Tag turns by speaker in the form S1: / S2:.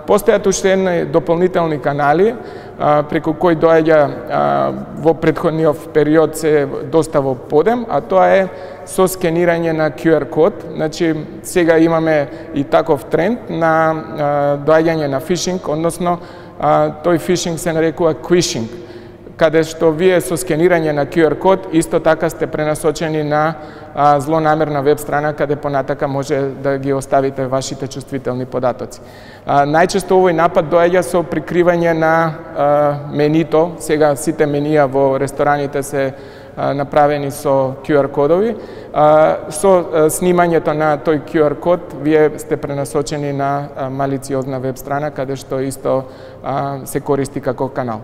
S1: Постојат уште едни дополнителни канали преку кои доаѓа во претходниот период се доста во подем, а тоа е со скенирање на QR код. Значи сега имаме и таков тренд на доаѓање на фишинг, односно тој фишинг се нарекува квишинг, каде што вие со скенирање на QR код исто така сте пренасочени на злонамерна веб страна каде понатака може да ги оставите вашите чувствителни податоци. Најчесто овој напад доаѓа со прикривање на менито. Сега сите менија во рестораните се направени со QR кодови. Со снимањето на тој QR код вие сте пренасочени на малициозна веб страна каде што исто се користи како канал.